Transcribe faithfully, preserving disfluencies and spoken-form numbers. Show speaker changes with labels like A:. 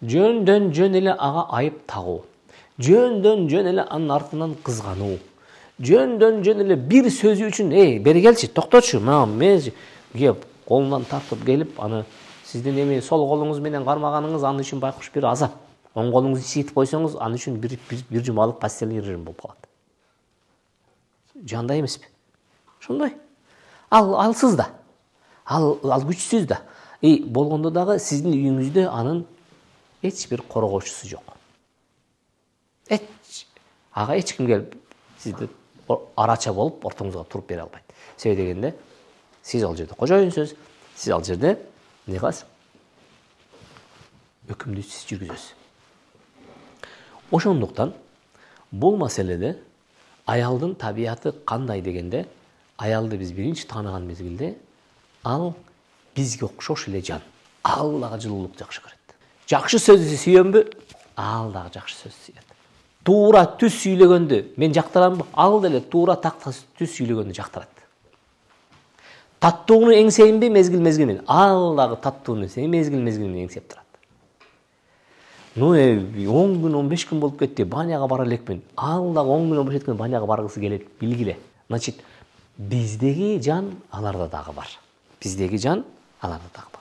A: жөндөн жөн эле ага айып тагуу, жөндөн жөн эле анын артынан кызгануу, жөндөн жөн эле бир сөзү үчүн эй бери келчи, токточу, мен кеп колунан тартып келип, аны сиздин эми сол колуңуз менен кармаганыңыз аны үчүн байкуш бир азап. Оң колуңузду сийтип койсоңуз, аны үчүн бир бир жумалык постельный режим болуп калат. Жандай эмеспи? Ошондой. Ал алсыз да. Ал ал күчсүз да. И болгондо дагы сиздин үйүңүздө анын эч бир коргоочусу жок. Эч ага эч ким келип сизди арача болуп ортоңузга туруп бере албайт. Себеби дегенде сиз ал жерде кожоюнсуз, сиз ал жерде эмне кыласыз? Өкүмдү сиз жүргүзөсүз. Ошондуктан бул маселеде аялдын табияты кандай дегенде, аялды биз биринчи тааныган мезгилде ал бизге окшош эле жан. Ал дагы жылуулукту жакшы көрөт. Жакшы сөздү сүйөнбү? Ал дагы жакшы сөздү сүйөт. Туура түз сүйлөгөндү мен жактырамбы? Ал деле туура такта түз сүйлөгөндү жактырат. Таттууну эңсейинби мезгил-мезгил менен? Ал дагы таттууну мезгил-мезгил менен эңсеп турат. Ну, он күн, он беш күн болуп кетти, баняга бара элекмин. Ал дагы он күн, он беш күн баняга баргысы келет, билгиле. Значит, биздеги жан аларда дагы бар. Биздеги жан аларда дагы бар.